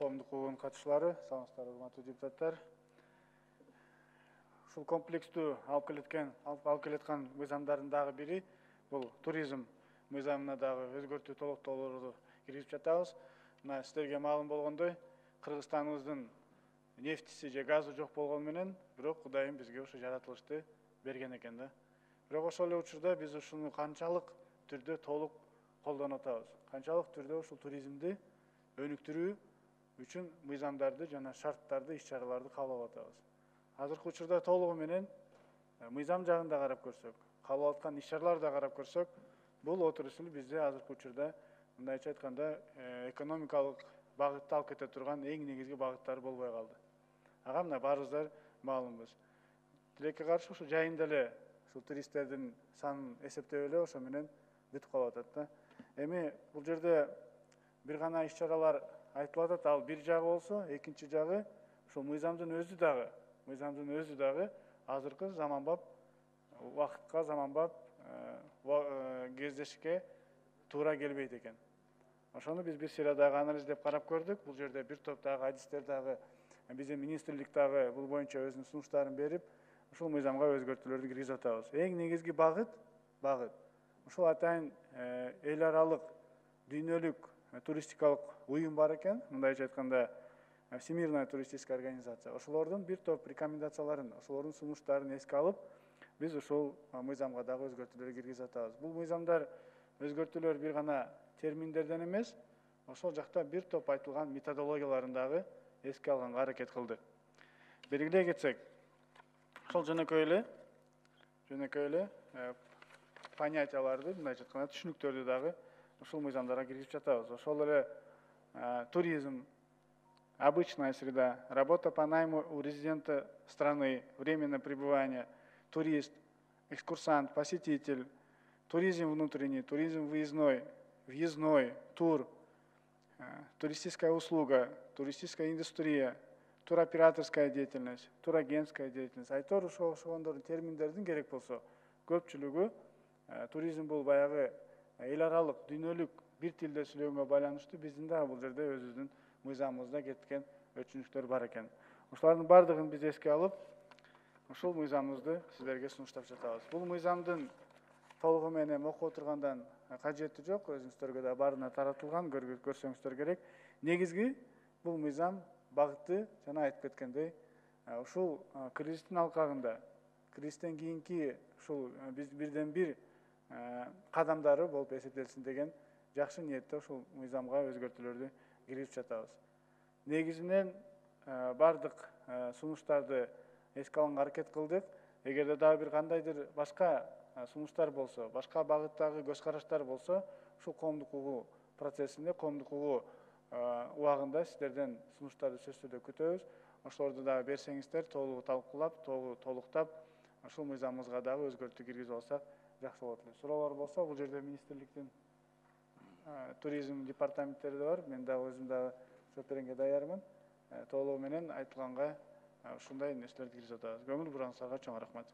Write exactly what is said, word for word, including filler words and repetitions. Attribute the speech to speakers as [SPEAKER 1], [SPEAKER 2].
[SPEAKER 1] коомдук угун катышуулары, саламатсыздар урматтуу депутаттар. Ушул комплекстүү алып келеткен, алып келеткан мыйзамдардын дагы бири бул туризм мыйзамына дагы өзгөртүү толуктоолорду киргизип жатабыз. Мына сиздерге маалым болгондой, Кыргызстаныбыздын нефтиси же газы жок болгону менен, бирок Кудайым бизге ушу жаратылышты берген экен да. Бирок ошол эле учурда биз ушуну канчалык түрдө толук колдонуп атабыз. Канчалык түрдө ушул туризмди өнүктүрүү үчүн мыйзамдарды жана шарттарды, иш-чараларды кабыл алып атабыз. Азыркы учурда толугу менен мыйзам жагын да карап көрсөк, кабыл алып аткан иш-чараларды да карап көрсөк, бул отурушул бизде азыркы учурда мындайча айтканда экономикалык багытта алып кете турган эң негизги багыттары болбой калды. Ага мына баарыбыздар маалымбыз. Тилекке каршы ушу жайында эле ушул туристтердин санын эсептеп эле ошо менен бүтүп калып атат да. Эми бул жерде бир гана иш-чаралар айтылып атат, ал бир жагы болсо, экинчи жагы ушул мыйзамдын өзү дагы, мыйзамдын өзү дагы азыркы заманбап убакытка, заманбап кездешикке туура келбейт экен. Ошону биз бир сыйра дагы анализдеп карап көрдүк. Бул жерде бир топ дагы адистер дагы биздин министрлик дагы бул боюнча өзүнүн сунуштарын берип, ушул мыйзамга өзгөртүүлөрдү киргизип атабыз. Эң негизги багыт, багыт ушул атайын эл аралык дүйнөлүк туристикалык уюм бар экен, мындайча айтканда Всемирная туристическая организация. Ошолордун бир топ рекомендацияларын, ошолордун сунуштарын эске алып, биз ушул мыйзамга дагы өзгөртүүлөр киргизип атабыз. Бул мыйзамдар өзгөртүүлөр бир гана терминдерден эмес, ошол жакта бир топ айтылган методологияларын дагы эске алганга аракет кылдык. Белгилей кетсек, ошол жөнөкөй эле, жөнөкөй эле понятияларды, мындайча айтканда түшүнүктөрдү дагы ушул мыйзамдарга киргизип жатабыз. Ошол эле туризм, обычная среда, работа по найму у резидента страны, временное пребывание, турист, экскурсант, посетитель, туризм внутренний, туризм выездной, въездной, тур, туристическая услуга, туристическая индустрия, туроператорская деятельность, турагентская деятельность. Айтор ошондордун терминдердин керек болсо көпчүлүгү туризм бул баягы эл аралык дүйнөлүк бир тилде сүйлөгөнгө байланыштуу биздин дагы бул жерде өзүбүздүн мыйзамыбызда кеткен өчүнүктөр бар экен. Ошолордун бардыгын биз эске алып, ушул мыйзамыбызды сиздерге сунуштап жатабыз. Бул мыйзамдын толугу менен окуп отургандан кажети жок, өзүңүздөргө да баарына таратылган, көрсөңүздөр керек. Негизги бул мыйзам багыты жана айтып кеткендей, ушул кризистин алкагында, кризистен кийинки ушул биз бирден бир кадамдары болуп эсептелсин деген жакшы ниетте ушул мыйзамга өзгөртүүлөрдү киргизип жатабыз. Негизинен бардык сунуштарды эске алганга аракет кылдык. Эгерде дагы бир кандайдыр башка сунуштар болсо, башка багыттагы көз караштар болсо, ушул коомдук угуу процессинде, коомдук угуу убагында сиздерден сунуштарды сөзсүз түрдө күтөбүз. Ошолорду дагы берсеңиздер, толугу талкуулап, толуктап, ушул мыйзамыбызга дагы өзгөртүү киргизип алсак жакшы болот эле. Суроолор болсо, бул жерде министрликтин туризм департаменттери да бар. Мен дагы өзүм дагы жооп бергенге даярмын. Толугу менен айтылганга ушундай нерселерди киргизип атабыз. Көңүл бураңыздарга чоң рахмат.